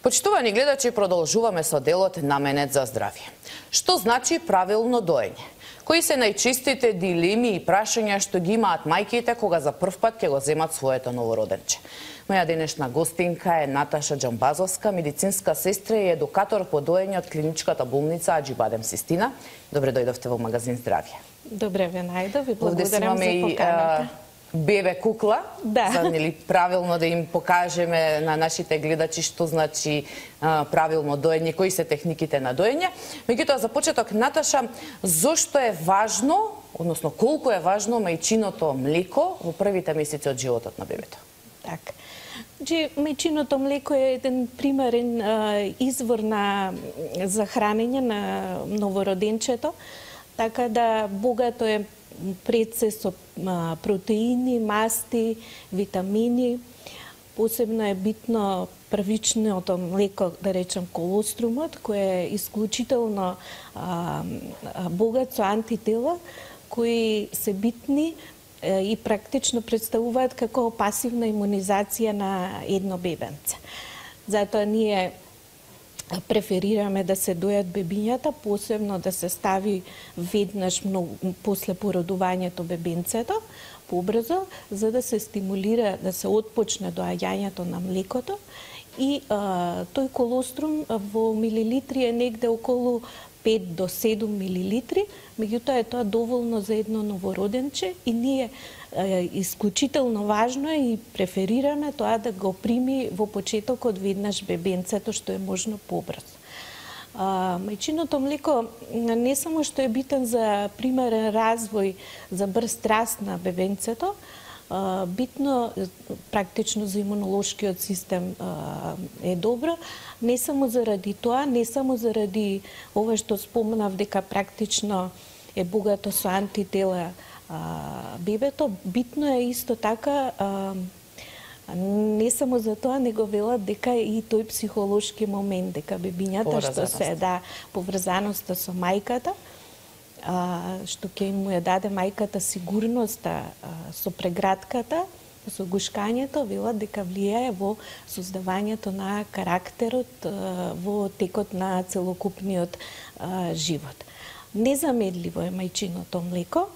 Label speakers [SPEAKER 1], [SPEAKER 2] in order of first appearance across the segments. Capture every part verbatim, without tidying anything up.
[SPEAKER 1] Почитувани гледачи, продолжуваме со делот Наменет за здравје. Што значи правилно доење? Кои се најчистите дилеми и прашања што ги имаат мајките кога за прв пат ќе го земат своето новороденче? Моја денешна гостинка е Наташа Џамбазовска, медицинска сестра и едукатор по доење од клиничката болница Аџибадем Систина. Добре дојдовте во магазин Здравје.
[SPEAKER 2] Добре ве најдов и благодарам за поканата.
[SPEAKER 1] Бебе кукла,
[SPEAKER 2] да.
[SPEAKER 1] за нели правилно да им покажеме на нашите гледачи што значи а, правилно доење, кои се техниките на доење. Меѓутоа, за почеток, Наташа, зошто е важно, односно колку е важно мајчиното млеко во првите месеци од животот на бебето?
[SPEAKER 2] Так. Значи, мајчиното млеко е еден примерен а, извор на за хранење на новороденчето, така да богато е пред се со протеини, масти, витамини. Посебно е битно првичното млеко, да речем колострумот, кој е исклучително а, богат со антитела, кои се битни а, и практично представуваат како пасивна имунизација на едно бебенце. Затоа ние преферираме да се дојат бебињата, посебно да се стави веднаш многу, после породувањето бебенцето, побрзо, за да се стимулира, да се отпочне доаѓањето на млекото. И а, тој колострум во милилитри е негде околу пет до седум милилитри, меѓутоа е тоа доволно за едно новороденче и ние е, исклучително важно е и преферираме тоа да го прими во почетокот веднаш бебенцето, што е можно побрзо. А, мајчиното млеко не само што е битен за примерен развој, за брз раст на бебенцето, а, битно практично за имунолошкиот систем а, е добро, не само заради тоа, не само заради ова што спомнав дека практично е богато со антитела а, бебето, битно е исто така а, не само за тоа, него велат дека и тој психолошки момент, дека бебињата што се да поврзаноста со мајката, а, што ќе му ја даде мајката сигурноста а, со прегратката, со гушкањето, велат дека влијае во создавањето на карактерот во текот на целокупниот а, живот. Незамедливо е мајчиното млеко.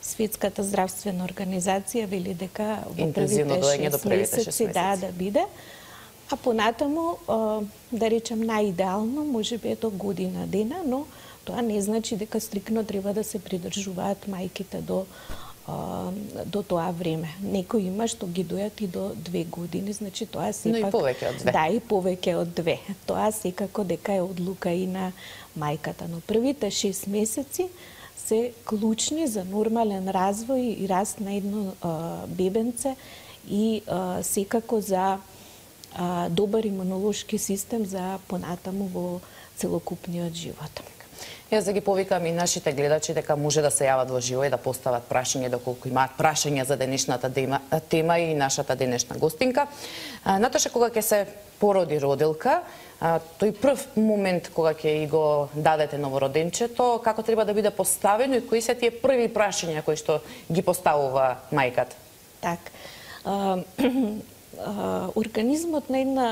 [SPEAKER 2] Светската здравствена организација вели дека во првите шест месеци да да биде, а понатаму да речем најидеално можеби е до година дена, но тоа не значи дека стрикно треба да се придржуваат мајките до до тоа време. Некои има што ги дојат и до две години, значи тоа сепак...
[SPEAKER 1] Но и повеќе од две.
[SPEAKER 2] Да, и повеќе од две. Тоа секако дека е одлука и на мајката. Но првите шест месеци се клучни за нормален развој и раст на едно а, бебенце и а, секако за а, добар имунолошки систем за понатаму во целокупниот живот.
[SPEAKER 1] Јас да ги повикам и нашите гледачи дека може да се јават во живо и да постават прашање доколку имаат прашања за денешната тема и нашата денешна гостинка. Наташа, кога ќе се породи родилка, тој прв момент кога ќе и го дадете новороденчето, како треба да биде поставено и кои се тие први прашања кои што ги поставува мајката?
[SPEAKER 2] Так. Организмот на една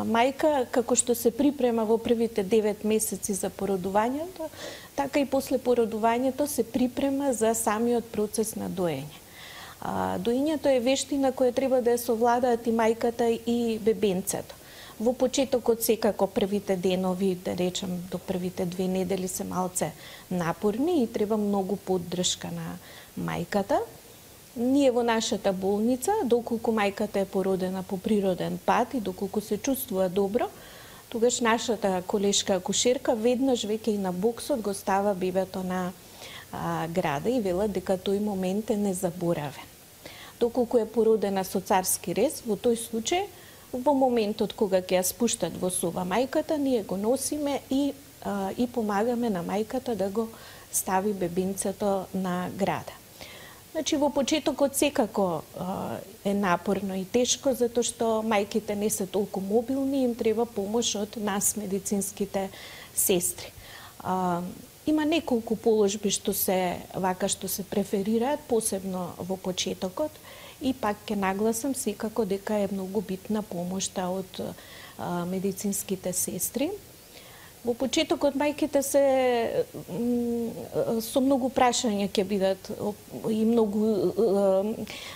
[SPEAKER 2] мајка, како што се припрема во првите девет месеци за породувањето, така и после породувањето се припрема за самиот процес на доење. Доењето е вештина која треба да ја совладаат и мајката и бебенцето. Во почетокот секако првите денови, да речем до првите две недели се малце напорни и треба многу поддршка на мајката. Ние во нашата болница, доколку мајката е породена по природен пат и доколку се чувствува добро, тогаш нашата колешка акушерка веднаш веќе и на боксот го става бебето на а, града и вела дека тој момент е незаборавен. Доколку е породена со царски рез, во тој случај, во моментот кога ќе ја спуштат во соба мајката, ние го носиме и, а, и помагаме на мајката да го стави бебинцето на града. Значи, во почетокот секако е напорно и тешко, затоа што мајките не се толку мобилни, им треба помош од нас, медицинските сестри. А, има неколку положби што се вака што се преферираат, посебно во почетокот, и пак ќе нагласам секако дека е многу битна помошта од медицинските сестри. Во почетокот мајките се со многу прашања ќе бидат и многу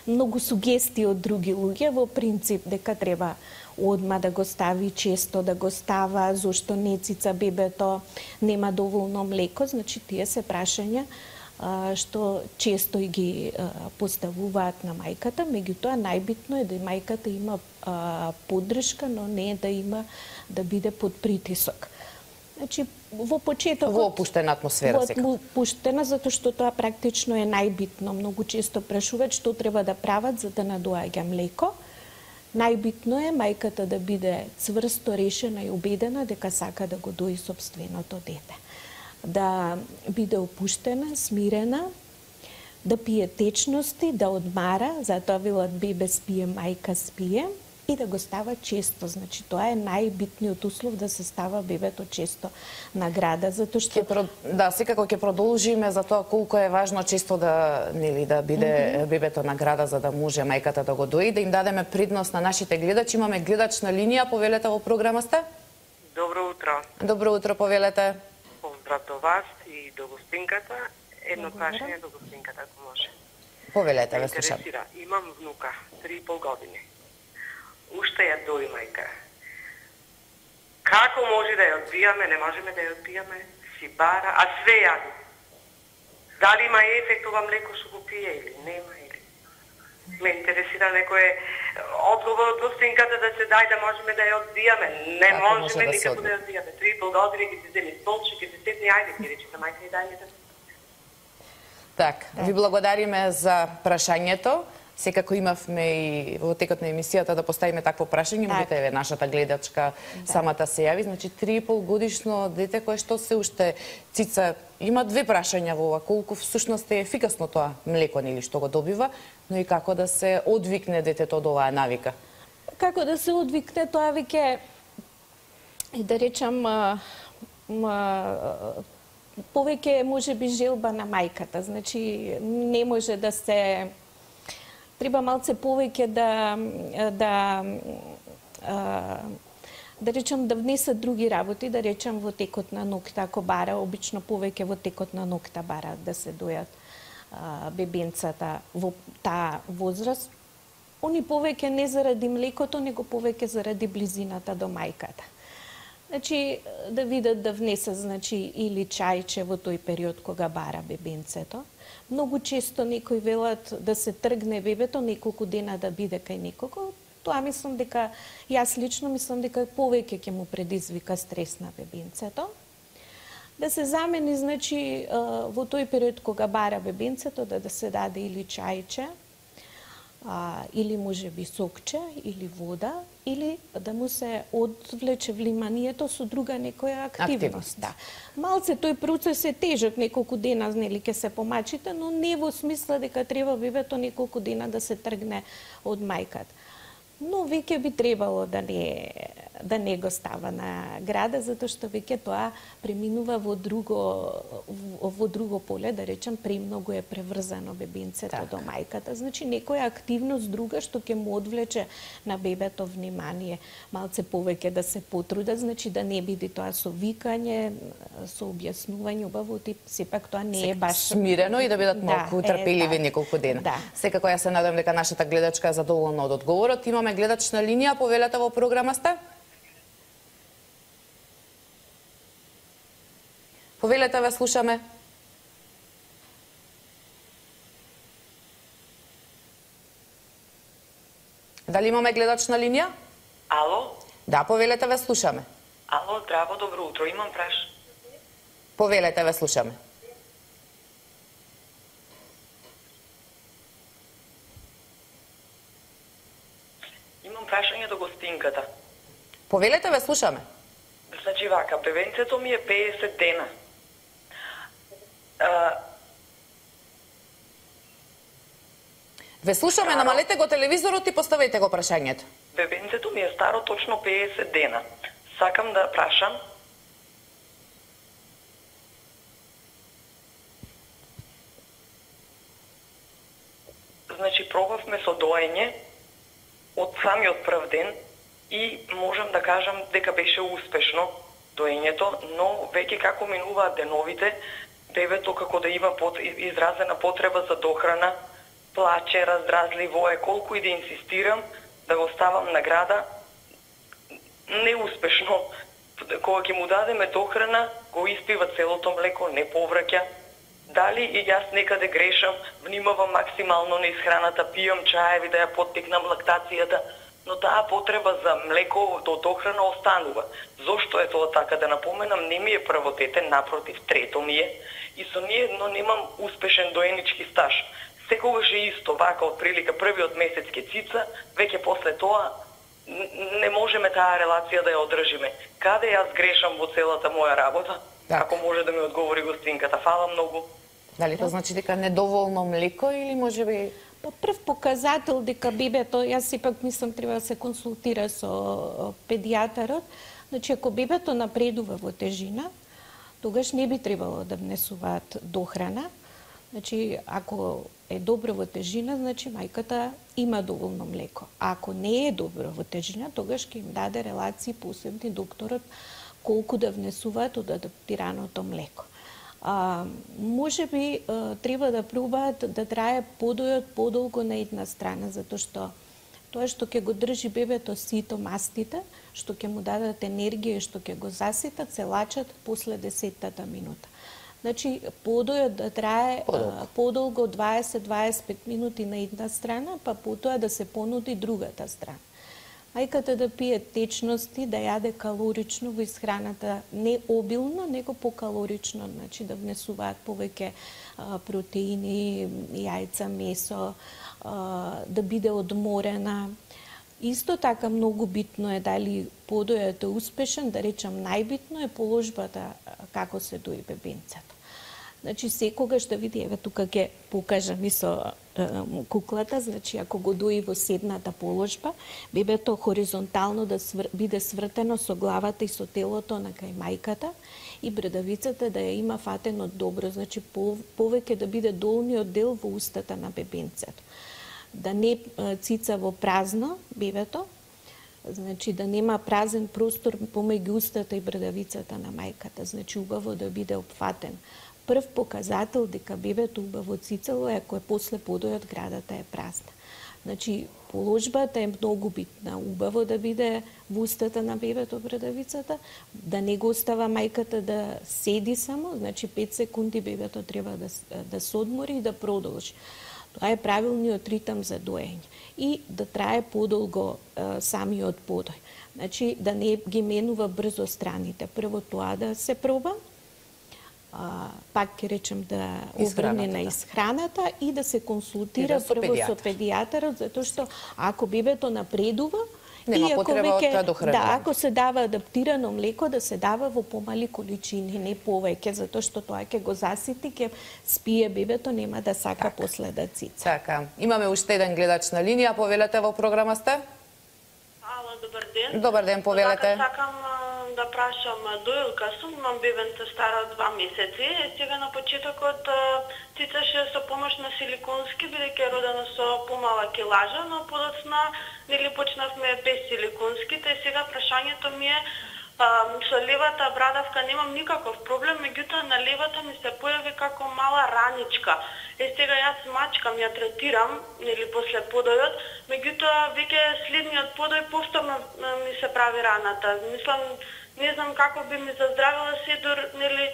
[SPEAKER 2] многу сугестии од други луѓе, во принцип дека треба одма да го стави често, да го става, зошто не цица бебето, нема доволно млеко, значи тие се прашања што често и ги поставуваат на мајката, меѓутоа најбитно е да мајката има поддршка, но не да има да биде под притисок. Значи, во почетокот...
[SPEAKER 1] Во опуштена атмосфера сега.
[SPEAKER 2] Во опуштена, затоа што тоа практично е најбитно. Многу често прашуваат што треба да прават за да надоаѓа млеко. Најбитно е мајката да биде цврсто решена и убедена дека сака да го дои сопственото дете. Да биде опуштена, смирена, да пие течности, да одмара, затоа велат бебе спие, мајка спие, и да го става често. Значи, тоа е најбитниот услов да се става бебето често на града, затоа што...
[SPEAKER 1] Ке, да, секако ќе продолжиме за тоа колку е важно често да, нели, да биде mm -hmm. бебето на града за да може мајката да го дои, да им дадеме предност на нашите гледачи. Имаме гледач на линија, повелете во програмата.
[SPEAKER 3] Добро утро.
[SPEAKER 1] Добро утро, повелете.
[SPEAKER 3] Поздрав до вас и до гостинката. Едно прашање до гостинката, ако може.
[SPEAKER 1] Повелете, ве слушам.
[SPEAKER 3] Имам внука, три и пол години. Уште ја дои мајка. Како може да ја одбијаме, не можеме да ја одбијаме, си бара, а све јади. Дали има ефект ова млеко што го пие или нема, или... Ме интересира некој одговор од гостинката да се дај да можеме да ја одбијаме. Не
[SPEAKER 1] Како
[SPEAKER 3] можеме
[SPEAKER 1] може да
[SPEAKER 3] никако да ја одбијаме. Три и пол години ги се земи столче, ги се седни, ајде, ги речете мајка и дај ми да...
[SPEAKER 1] Так, ви благодариме за прашањето. Секако имавме и во текот на емисијата да поставиме такво прашање, меѓутоа еве нашата гледачка да. самата се јави, значи три и пол годишно дете кое што се уште цица, има две прашања во ова, колку всушност е ефикасно тоа млеко нели што го добива, но и како да се одвикне детето од оваа навика.
[SPEAKER 2] Како да се одвикне тоа веќе и да речам а, а, повеќе можеби желба на мајката, значи не може да се треба малце повеќе да да да речам да внесат други работи, да речам во текот на ноќта, ако бара, обично повеќе во текот на ноќта бара да се дојат бебенцата во таа возраст. Они повеќе не заради млекото, него повеќе заради близината до мајката. Значи, да видат да внесат, значи, или чајче во тој период кога бара бебенцето. Многу често некои велат да се тргне бебето, неколку дена да биде кај некого. Тоа мислам дека, јас лично мислам дека повеќе ќе му предизвика стрес на бебенцето. Да се замени, значи, во тој период кога бара бебенцето, да, да се даде или чајче, а, или може би сокче, или вода, или да му се одвлече вниманието со друга некоја активност. активност. Да. Малце тој процес е тежок, неколку дена нели ќе се помачите, но не во смисла дека треба бебето неколку дена да се тргне од мајката. Но веќе би требало да не да не го става на града, затоа што веќе тоа преминува во друго во, во друго поле, да речем, премногу е преврзано бебенцето так. до мајката. Значи некоја активност друга што ќе му одвлече на бебето внимание, малце повеќе да се потруда, значи да не биде тоа со викање, со објаснување, убаво тип, сепак тоа не е баш
[SPEAKER 1] смирено и да бидат малку да, трпеливи е, неколку дена. Да. Секако ја се надам дека нашата гледачка е задоволна од одговорот. Имаме гледач на линија, повелете во програмата. Повелете, ве слушаме. Дали имаме гледач на линија?
[SPEAKER 3] Ало?
[SPEAKER 1] Да, повелете, ве слушаме.
[SPEAKER 3] Ало, здраво, добро утро, имам праш.
[SPEAKER 1] Повелете, ве слушаме.
[SPEAKER 3] Имам прашање до гостинката.
[SPEAKER 1] Повелете, ве слушаме.
[SPEAKER 3] Значи вака, бебенцето ми е педесет дена. А...
[SPEAKER 1] Ве слушаме, старо... намалете го телевизорот и поставете го прашањето.
[SPEAKER 3] Бебенцето ми е старо точно педесет дена. Сакам да прашам. Значи, пробавме со доење од самиот прв ден, и можам да кажам дека беше успешно доењето, но веќе како минуваат деновите, бебето како да има под, изразена потреба за дохрана, плаче, раздразливо е, колку и да инсистирам да го ставам на града, неуспешно. Кога ќе му дадеме дохрана, го испива целото млеко, не повраќа. Дали и јас некаде грешам, внимавам максимално на исхраната, пијам чаеви да ја поттикнам лактацијата, но таа потреба за млеко до дохрана останува. Зошто е тоа така? Да напоменам, не ми е прво дете, напротив, трето ми е, и со ние едно немам успешен доенички стаж. Секогаш е исто, вака, од прилика првиот месец ке цица, веќе после тоа не можеме таа релација да ја одржиме. Каде јас грешам во целата моја работа? Так. Ако може да ми одговори гостинката, фала многу.
[SPEAKER 1] Дали тоа значи дека недоволно млеко или можеби...
[SPEAKER 2] Па прв показател дека бебето, јас сепак мислам треба да се консултира со педијатарот, значи ако бебето напредува во тежина, тогаш не би требало да внесуваат дохрана. Значи, ако е добро во тежина, значи мајката има доволно млеко. А ако не е добро во тежина, тогаш ќе им даде релации посебни докторот колку да внесуваат од адаптираното млеко. А, може би а, треба да пробаат да трае подојот подолго на една страна, затоа што тоа што ќе го држи бебето сито, мастите, што ќе му дадат енергија и што ќе го заситат, се лачат после десеттата минута. Значи, подојот да трае подолго, подолго дваесет до дваесет и пет минути на една страна, па потоа да се понуди другата страна. Мајката да пие течности, да јаде калорично во исхраната, не обилно, него покалорично, значи да внесуваат повеќе а, протеини, јајца, месо, а, да биде одморена. Исто така многу битно е дали подојот е успешен, да речам најбитно е положбата како се дои бебенцето. Значи секогаш да види, еве тука ќе покажам и со е, куклата, значи ако го дои во седната положба, бебето хоризонтално да свр... биде свртено со главата и со телото на кај мајката и брадавицата да ја има фатено добро, значи по... повеќе да биде долниот дел во устата на бебенцето. Да не цица во празно бебето, значи да нема празен простор помеѓу устата и брадавицата на мајката, значи убаво да биде опфатен. Прв показател дека бебето убаво цицало е ако е после подојот градата е празна. Значи положбата е многу битна, убаво да биде во устата на бебето брадавицата, да не го остава мајката да седи само, значи пет секунди бебето треба да да се одмори и да продолжи. Тоа е правилниот ритам за доење и да трае подолго е, самиот подој. Значи да не ги менува брзо страните. Прво тоа да се проба, а, пак ќе речем да обрне на исхраната и да се консултира да прво со педијатарот, затоа што ако бебето напредува,
[SPEAKER 1] нема
[SPEAKER 2] и
[SPEAKER 1] потреба од тоа дохранување.
[SPEAKER 2] Да, ако се дава адаптирано млеко, да се дава во помали количини, не повеќе, затоа што тоа ќе го засити, ќе спие бебето, нема да сака так. После да цица.
[SPEAKER 1] Така, имаме уште еден гледач на линија, повелете во програма сте?
[SPEAKER 4] Ало, добар ден.
[SPEAKER 1] Добар ден, повелете.
[SPEAKER 4] Сакам да прашам, доилка сум, имам бебенце стара два месеци, сега на почетокот цицаше со помош на силиконски, бидејќи е родена со помала килажа, но подоцна нели почнавме без силиконските, и сега прашањето ми е а, со левата брадавка немам никаков проблем, меѓутоа на левата ми се појави како мала раничка. Е сега јас мачкам, ја третирам, нели после подојот, меѓутоа веќе следниот подој повторно ми се прави раната. Мислам, не знам како би ми заздравила седор, нели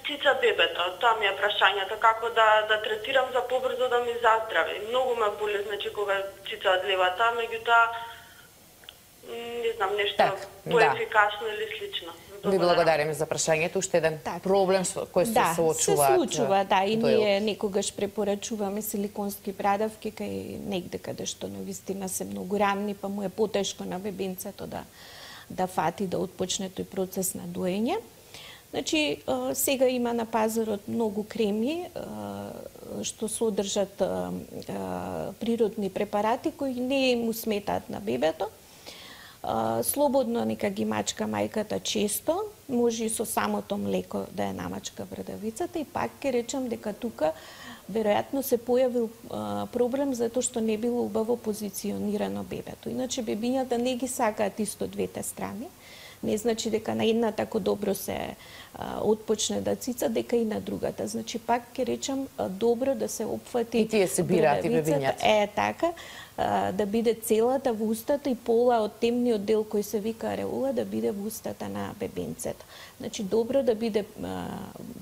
[SPEAKER 4] цица бебето. Тоа ми е прашањето, како да да третирам за побрзо да ми заздрави. Многу ме боли, значи кога цица од левата, меѓутоа не знам нешто так, поефикасно да. Или слично.
[SPEAKER 1] Ви благодариме за прашањето. Уште еден так. Проблем со кој се
[SPEAKER 2] да,
[SPEAKER 1] соочува.
[SPEAKER 2] се случува, да, и ние некогаш препорачуваме силиконски брадавки кај негде каде што навистина се многу рамни, па му е потешко на бебенцето да да фати да отпочне тој процес на доење. Значи, сега има на пазарот многу креми што содржат природни препарати кои не му сметаат на бебето. Слободно нека ги мачка мајката често, може и со самото млеко да ја намачка брадавицата и пак ќе речам дека тука веројатно се појавил а, проблем затоа што не било убаво позиционирано бебето. Иначе бебињата не ги сакаат исто двете страни. Не значи дека на едната ако добро се а, отпочне да цица, дека и на другата. Значи пак ќе речам а, добро да се опфати
[SPEAKER 1] и тие се бираат и бебињата.
[SPEAKER 2] Е така, а, да биде целата во устата и пола од темниот дел кој се вика ареола да биде во устата на бебенцето. Значи добро да биде а,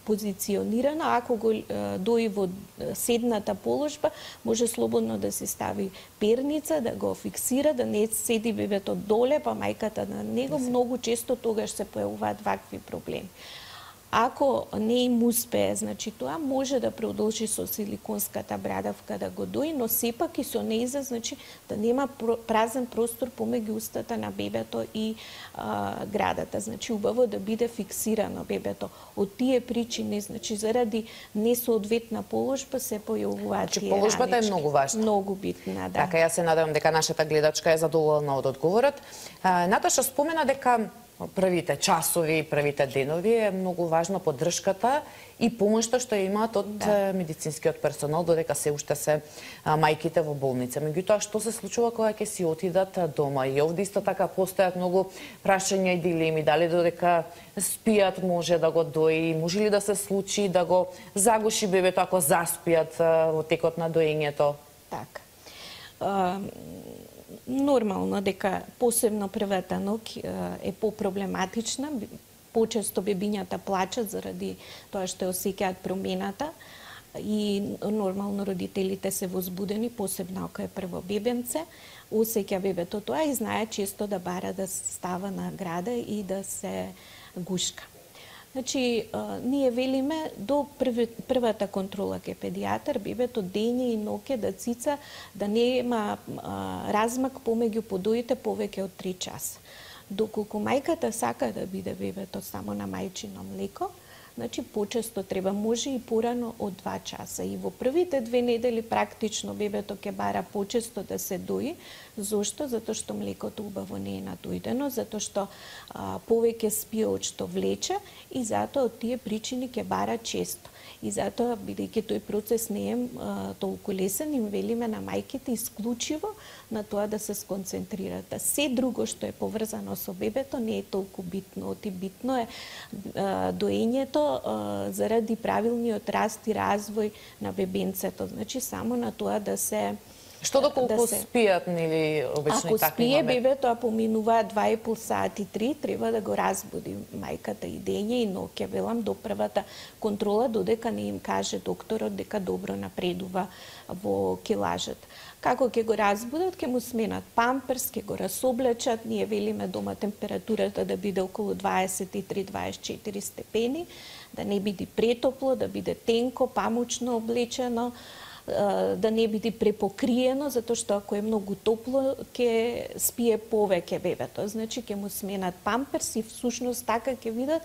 [SPEAKER 2] позиционирано, ако го а, дои во седната положба, може слободно да се стави перница, да го фиксира, да не седи бебето доле, па мајката на него. Многу често тогаш се појавуваат вакви проблеми. Ако не им успее, значи тоа може да продолжи со силиконската брадавка да го дои, но сепак и со неиза, значи да нема празен простор помеѓу устата на бебето и а, градата. Значи убаво да биде фиксирано бебето. Од тие причини, значи заради несоодветна положба се појавуваат
[SPEAKER 1] значи,
[SPEAKER 2] тие
[SPEAKER 1] положбата
[SPEAKER 2] ранички.
[SPEAKER 1] е многу важна.
[SPEAKER 2] Многу битна, да.
[SPEAKER 1] Така, јас се надевам дека нашата гледачка е задоволна од одговорот. А, Наташа спомена дека првите часови, првите денови е многу важна поддршката и помошта што ја имаат од да. медицинскиот персонал, додека се уште се а, мајките во болница. Меѓутоа, што се случува кога ќе си отидат дома? И овде исто така постојат многу прашања и дилеми, дали додека спијат може да го дои, може ли да се случи да го загуши бебето ако заспијат а, во текот на доењето?
[SPEAKER 2] Така. Uh... Нормално дека посебно првата ноќ е попроблематична. Почесто бебињата плачат заради тоа што осеќаат промената и нормално родителите се возбудени, посебно ако е прво бебенце, осеќа бебето тоа и знае често да бара да става на града и да се гушка. Значи, а, ние велиме до први, првата контрола ке педијатар, бебето дење и ноќе да цица, да нема а, размак помеѓу подоите повеќе од три часа. Доколку мајката сака да биде бебето само на мајчино млеко, значи почесто треба, може и порано од два часа. И во првите две недели практично бебето ќе бара почесто да се дои. Зошто? Затоа што млекото убаво не е надојдено, затоа што а, повеќе спие од што влече и затоа од тие причини ќе бара често. И затоа, бидејќи тој процес не е а, толку лесен, им велиме на мајките исклучиво на тоа да се сконцентрират. Се друго што е поврзано со бебето не е толку битно. Оти битно е а, доењето а, заради правилниот раст и развој на бебенцето. Значи само на тоа да се
[SPEAKER 1] Што доколку да се... спијат, нели, обично
[SPEAKER 2] и
[SPEAKER 1] такви
[SPEAKER 2] спие
[SPEAKER 1] моменти?
[SPEAKER 2] бебето, а поминуваат два и пол сати, три, треба да го разбуди мајката и дење и ноќе, велам, до првата контрола, додека не им каже докторот дека добро напредува во килажата. Како ќе го разбудат, ќе му сменат памперс, ќе го расоблечат, ние велиме дома температурата да биде околу дваесет и три до дваесет и четири степени, да не биде претопло, да биде тенко, памучно облечено, да не биде препокриено, затоа што ако е многу топло, ќе спие повеќе бебето. Значи, ќе му сменат памперс и всушност така ќе видат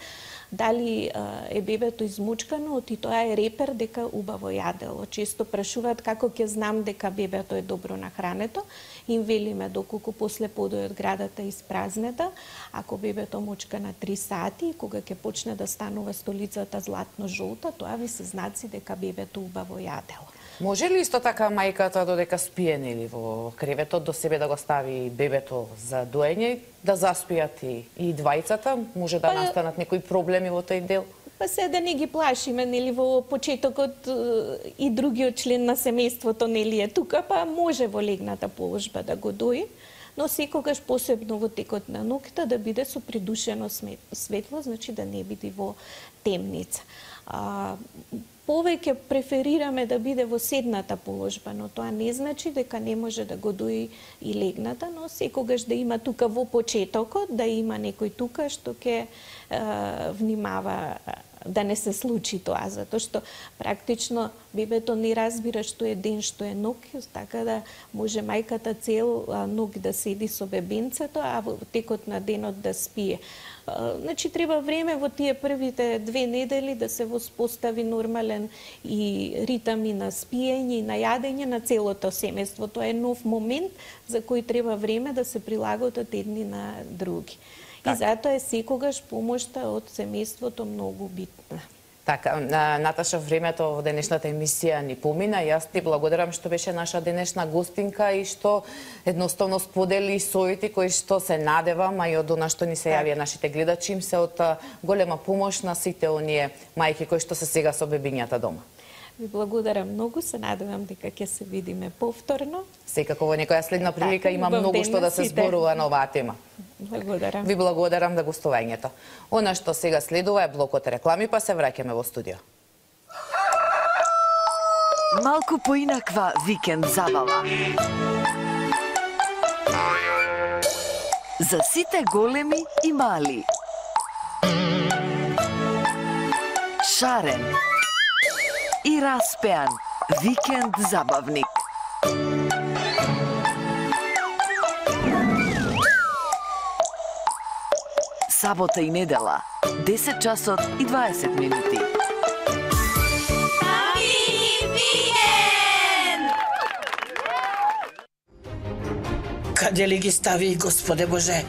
[SPEAKER 2] дали е бебето измучкано, и тоа е репер дека убаво јадело. Често прашуваат како ќе знам дека бебето е добро нахрането. Им велиме доколку после подој од градата испразнета, ако бебето мучка на три сати, кога ќе почне да станува столицата златно-жолта, тоа ви се знаци дека бебето убаво јадело.
[SPEAKER 1] Може ли исто така мајката додека спие, нели, во креветот до себе да го стави бебето за доење, да заспијат и, и двајцата? Може да па, настанат некои проблеми во тој дел?
[SPEAKER 2] Па се да не ги плашиме, нели, во почетокот и другиот член на семејството нели е тука, па може во легната положба да го дои, но секогаш посебно во текот на ноќта да биде со придушено светло, значи да не биде во темница. А, повеќе преферираме да биде во седната положба, но тоа не значи дека не може да го дои и легната, но секогаш да има тука во почетокот, да има некој тука што ќе внимава да не се случи тоа, затоа што практично бебето не разбира што е ден, што е ноќ, така да може мајката цел ноќ да седи со бебенцето, а во текот на денот да спие. Значи, треба време во тие првите две недели да се воспостави нормален и ритам и на спиење и на јадење на целото семејство. Тоа е нов момент за кој треба време да се прилагодат едни на други. Так. И затоа е секогаш помошта од семејството многу битна.
[SPEAKER 1] Така, Наташа, времето во денешната емисија ни помина. Јас ти благодарам што беше наша денешна гостинка и што едноставно сподели совети кои што се надевам, а и од она што ни се јавија нашите гледачи, им се од голема помош на сите оние мајки кои што се сега со бебињата дома.
[SPEAKER 2] Ви благодарам многу, се надевам дека ќе се видиме повторно.
[SPEAKER 1] Секако во некоја следна прилика има многу што да се зборува на оваа тема.
[SPEAKER 2] Благодарам.
[SPEAKER 1] Ви благодарам за гостувањето. Она што сега следува е блокот реклами, па се враќаме во студио.
[SPEAKER 5] Малку поинаква викенд забава. За сите големи и мали. Шарен и распеан викенд забавник. Сабота и недела, десет часот и дваесет минути.
[SPEAKER 6] Каде ли ги стави, Господе Боже?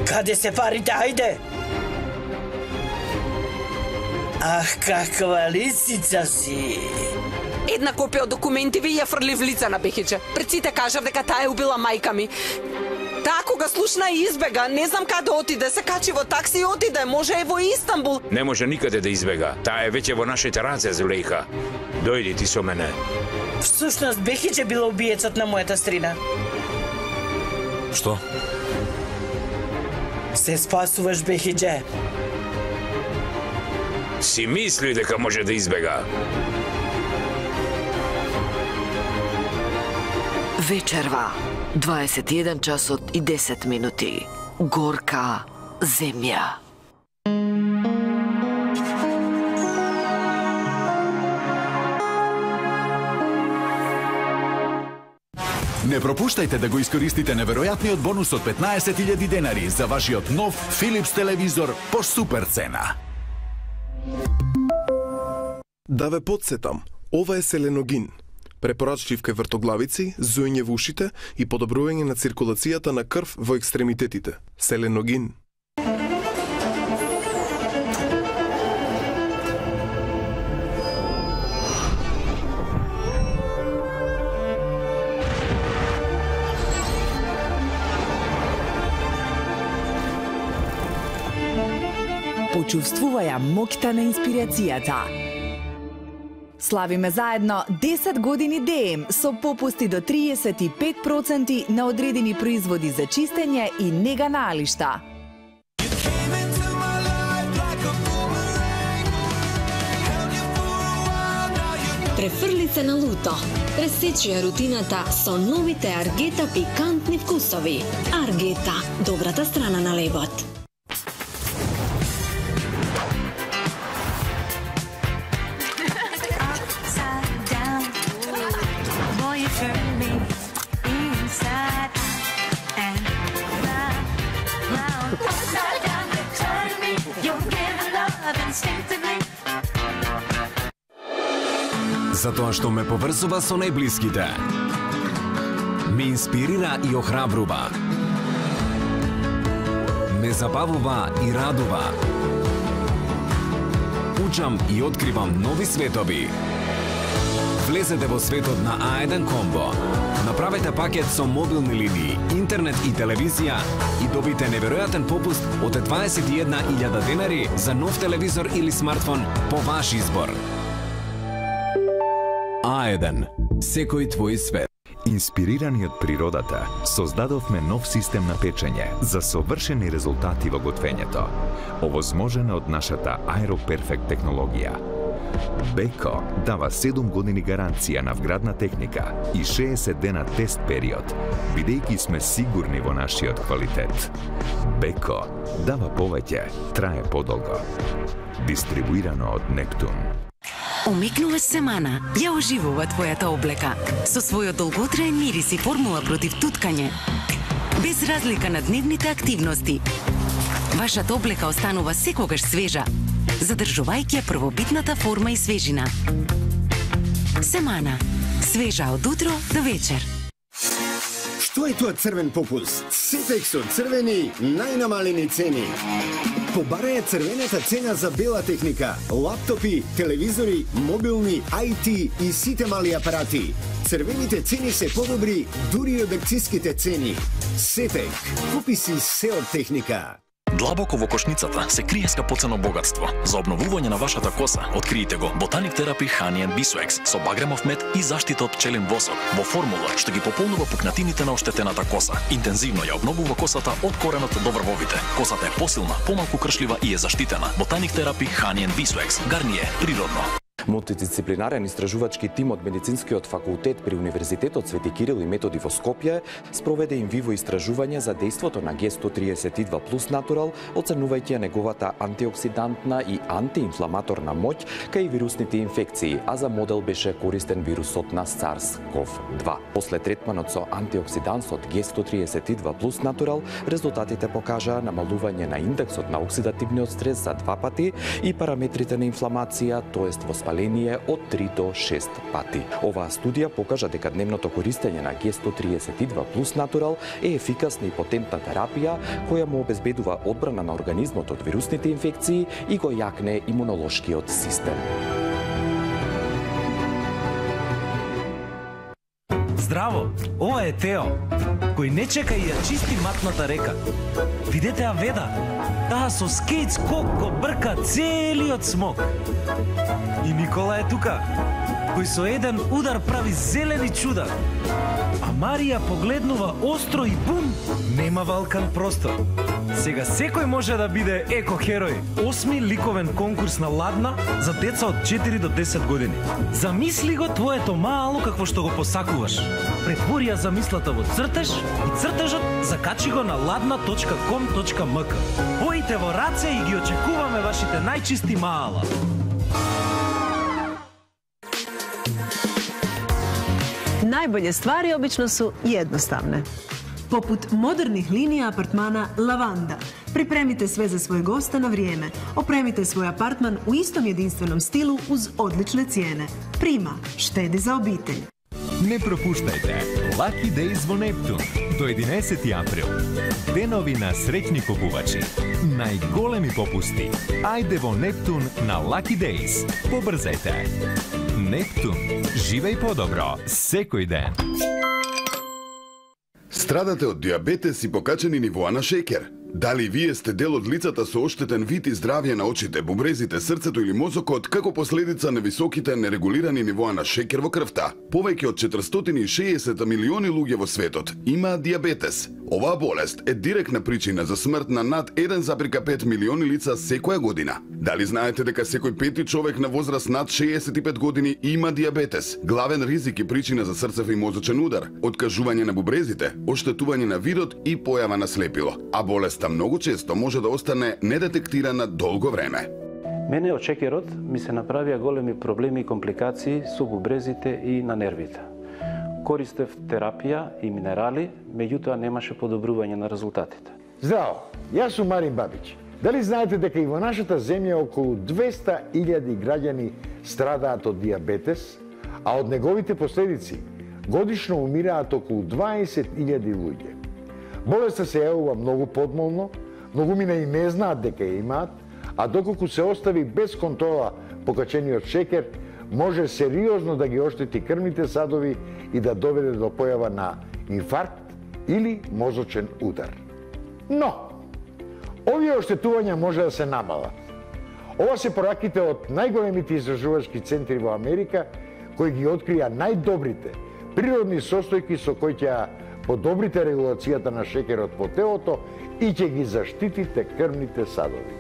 [SPEAKER 6] Каде се парите, ајде? Ах, каква лисица си!
[SPEAKER 7] Една копија од документиви ја фрли в лица на Бехиџе. Пред сите кажав дека таа е убила мајка ми. Таа кога слушна и избега, не знам каде отиде, се качи во такси и отиде, може е во Истанбул.
[SPEAKER 8] Не може никаде да избега, таа е веќе во нашите раце, Зулейха. Дојди ти со мене.
[SPEAKER 6] Всушност, Бехиџе била убиецот на мојата стрина.
[SPEAKER 8] Што?
[SPEAKER 6] Се спасуваш, Бехиџе.
[SPEAKER 8] Си мисли дека може да избега?
[SPEAKER 5] Вечерва, дваесет и еден часот и десет минути. Горка земја.
[SPEAKER 9] Не пропуштајте да го искористите неверојатниот бонус од петнаесет илјади денари за вашиот нов Philips телевизор по супер цена.
[SPEAKER 10] Да ве подсетам, ова е селеногин. Препорачлив кај вртоглавици, зујње во ушите и подобрување на циркулацијата на крв во екстремитетите. Селеногин.
[SPEAKER 11] Почувствуваја моќта на инспирацијата. Славиме заедно десет години ДЕМ со попусти до триесет и пет проценти на одредени производи за чистење и нега на алишта.
[SPEAKER 12] Префрли се на луто. Пресечи ја рутината со новите Аргета пикантни вкусови. Аргета, добрата страна на лебот.
[SPEAKER 13] Затоа што ме поврзува со најблиските. Ме инспирира и охрабрува. Ме забавува и радува. Учам и откривам нови светови. Влезете во светот на А еден Комбо. Направете пакет со мобилни линии, интернет и телевизија и добите неверојатен попуст од дваесет и една илјада денари за нов телевизор или смартфон по ваш избор. А еден. Секој твој свет.
[SPEAKER 14] Инспирирани од природата, создадовме нов систем на печење за совршени резултати во готвењето, овозможена од нашата Аероперфект технологија. Беко дава седум години гаранција на вградна техника и шеесет дена тест период, бидејќи сме сигурни во нашиот квалитет. Беко дава повеќе, трае подолго. Дистрибуирано од Нептун.
[SPEAKER 15] Омекнуваш семана, ја оживува твојата облека. Со својот долготраен мирис и формула против туткање. Без разлика на дневните активности. Вашата облека останува секогаш свежа, задржувајќи ја првобитната форма и свежина. Семана. Свежа од утро до вечер.
[SPEAKER 16] Што е тоа црвен попуст? Сетек со црвени најнамалени цени. Побараја црвената цена за бела техника, лаптопи, телевизори, мобилни, ай ти и сите мали апарати. Црвените цени се подобри дури од акциските цени. Сетек, купи си се од техника.
[SPEAKER 17] Длабоко во кошницата се крие скапоцено богатство. За обновување на вашата коса, откриете го Botanic Therapy Honey and Beeswax со багремов мед и заштита од пчелин восок во формула што ги пополнува пукнатините на оштетената коса. Интензивно ја обновува косата од коренот до врвовите. Косата е посилна, помалку кршлива и е заштитена. Botanic Therapy Honey and Beeswax. Гарниер, природно.
[SPEAKER 18] Мултидисциплинарен истражувачки тим од Медицинскиот факултет при Универзитетот Свети Кирил и Методи во Скопје спроведе инвиво истражување за дејството на Г сто триесет и два плюс Натурал, оценувајќи неговата антиоксидантна и антиинфламаторна моќ кај вирусните инфекции, а за модел беше користен вирусот на SARS ков два. После третманот со антиоксидансот Г сто триесет и два плюс Натурал, резултатите покажаа намалување на индексот на оксидативниот стрес за два пати и параметрите на инфламација, тоест воспаление од три до шест пати. Оваа студија покажа дека дневното користење на Г сто триесет и два плюс Натурал е ефикасна и потентна терапија која му обезбедува одбрана на организмот од вирусните инфекции и го јакне имунолошкиот систем.
[SPEAKER 19] Здраво, ова е Тео, кој не чека и ја чисти матната река. Видете ја веда, таа со скејт скок го брка целиот смок. И Никола е тука, кој со еден удар прави зелени чуда. А Марија погледнува остро и бум, нема валкан простор. Сега секој може да биде еко-херој. Осми ликовен конкурс на Ладна за деца од четири до десет години. Замисли го твоето мало какво што го посакуваш. Претвори ја замислата во цртеж и цртежот закачи го на ладна точка ком точка ем ка. Боите во раце и ги очекуваме вашите најчисти маала.
[SPEAKER 20] Најболje ствари обично су едноставне. Попут модерних линија апартмана Лаванда. Припремите све за свој госта на вриеме. Опремите свој апартман у истом единственом стилу уз одличне цијене. Прима, штеди за обителј.
[SPEAKER 14] Не пропуштајте Lucky Days во Нептун до единаесети април. Денови на среќни купувачи. Најголеми попусти. Ајде во Нептун на Lucky Days. Побрзајте. Нептун. Живеј подобро секој ден.
[SPEAKER 21] Страдате од диабетес и покачени нивоа на шеќер? Дали вие сте дел од лицата со оштетен вид и здравје на очите, бубрезите, срцето или мозокот како последица на високите нерегулирани нивоа на шеќер во крвта? Повеќе од четиристотини и шеесет милиони луѓе во светот имаат диабетес. Оваа болест е директна причина за смрт на над еден запирка пет милиони лица секоја година. Дали знаете дека секој пети човек на возраст над шеесет и пет години има диабетес? Главен ризик и причина за срцев и мозочен удар, откажување на бубрезите, оштетување на видот и појава на слепило. А болеста многу често може да остане недетектирана долго време.
[SPEAKER 22] Мене од шеќерот ми се направија големи проблеми и компликации со бубрезите и на нервите. Користев терапија и минерали, меѓутоа немаше подобрување на резултатите.
[SPEAKER 23] Здраво, јас сум Марин Бабич. Дали знаете дека и во нашата земја околу двеста илјади граѓани страдаат од диабетес, а од неговите последици годишно умираат околу дваесет илјади луѓе. Болеста се јавува многу подмолно, многумина и не знаат дека ја имаат, а доколку се остави без контрола покачениот шеќер, може сериозно да ги оштети крвните садови и да доведе до појава на инфаркт или мозочен удар. Но, овие оштетувања може да се намалат. Ова се пораките од најголемите истражувачки центри во Америка, кои ги открија најдобрите природни состојки со кои ќе подобрите регулацијата на шеќерот во телото и ќе ги заштитите крвните садови.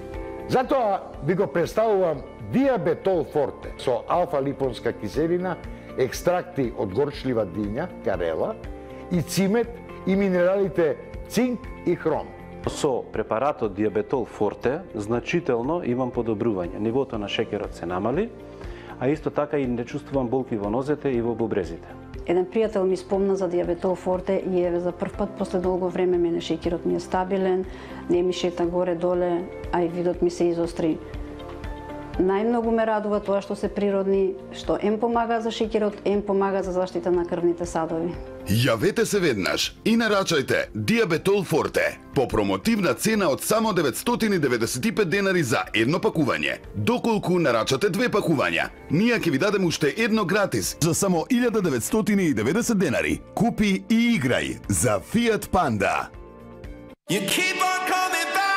[SPEAKER 23] Затоа ви го представувам Диабетол Форте со алфа-липонска киселина, екстракти од горчлива диња, карела, и цимет и минералите цинк и хром.
[SPEAKER 22] Со препаратот Диабетол Форте значително имам подобрување. Нивото на шеќерот се намали, а исто така и не чувствувам болки во нозете и во бубрезите.
[SPEAKER 24] Еден пријател ми спомна за Диабетол Форте и е за прв пат после долго време мене шеќерот ми е стабилен, не ми шета горе-доле, а и видот ми се изостри. Најмногу ме радува тоа што се природни, што ем помага за шеќерот, ем помага за заштита на крвните садови.
[SPEAKER 21] Јавете се веднаш и нарачајте Диабетол Форте по промотивна цена од само деветстотини деветдесет и пет денари за едно пакување. Доколку нарачате две пакувања, ние ќе ви дадем уште едно гратис за само илјада деветстотини и деветдесет денари. Купи и играј за Fiat Panda.
[SPEAKER 1] You keep on coming back.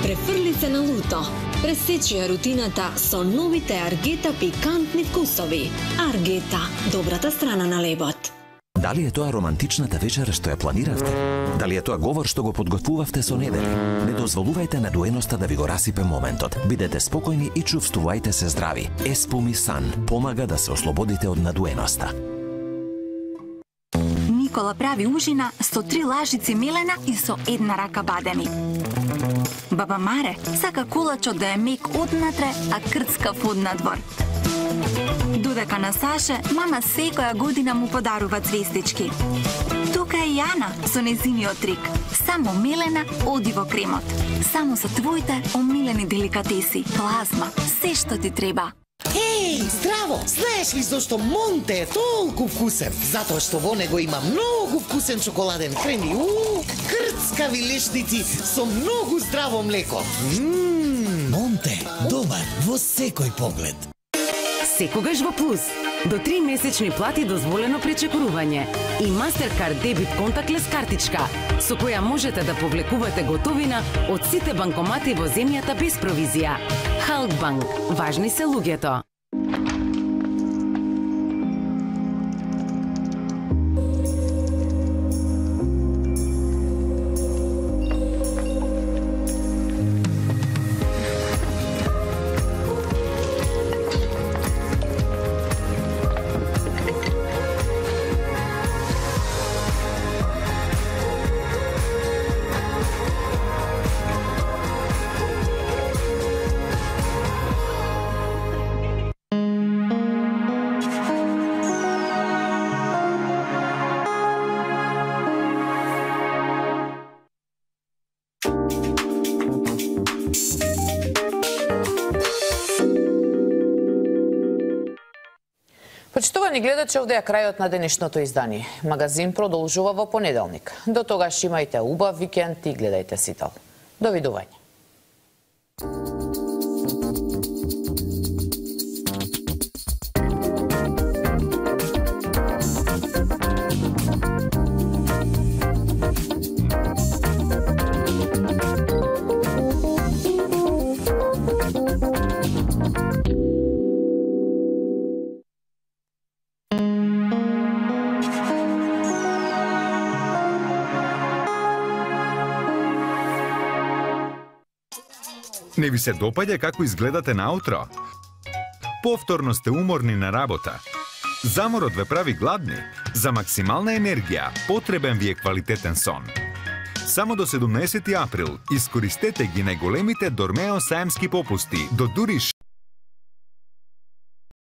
[SPEAKER 12] Префрли се на луто. Пресечи ја рутината со новите Аргета пикантни вкусови. Аргета, добрата страна на лебот.
[SPEAKER 2] Дали е тоа романтичната вечера што ја планиравте? Дали е тоа говор што го подготвувавте со недели? Не дозволувајте на дуеноста да ви го расипе моментот. Бидете спокојни и чувствувајте се здрави. Еспоми Сан помага да се ослободите од надуеноста.
[SPEAKER 3] Никола прави ужина со три лажици мелена и со една рака бадеми. Баба Маре сака кулачот да е мек однатре, а крцкав однадвор. Додека на Саше, мама секоја година му подарува цвестички. Тука е Јана со незиниот трик. Само мелена оди во кремот. Само за твоите омилени деликатеси. Плазма, се што ти треба.
[SPEAKER 4] Еј, здраво! Знаеш ли зашто Монте е толку вкусен? Затоа што во него има многу вкусен чоколаден крем и уу, крцкави лешници со многу здраво млеко. Ммм, Монте, добар во секој поглед.
[SPEAKER 15] Секогаш во плюс. До три месечни плати дозволено пречекорување и Mastercard дебит контаклес картичка, со која можете да повлекувате готовина од сите банкомати во земјата без провизија. Халкбанк. Важни се луѓето.
[SPEAKER 25] Почитувани гледачи, овде е крајот на денешното издание. Магазин продолжува во понеделник. До тогаш имајте убав викенд и гледајте Сител. Довидување.
[SPEAKER 26] Не ви се допаѓа како изгледате наутро? Повторно сте уморни на работа. Заморот ве прави гладни. За максимална енергија потребен ви е квалитетен сон. Само до седумнаесети април искористете ги најголемите Дормео саемски попусти до дури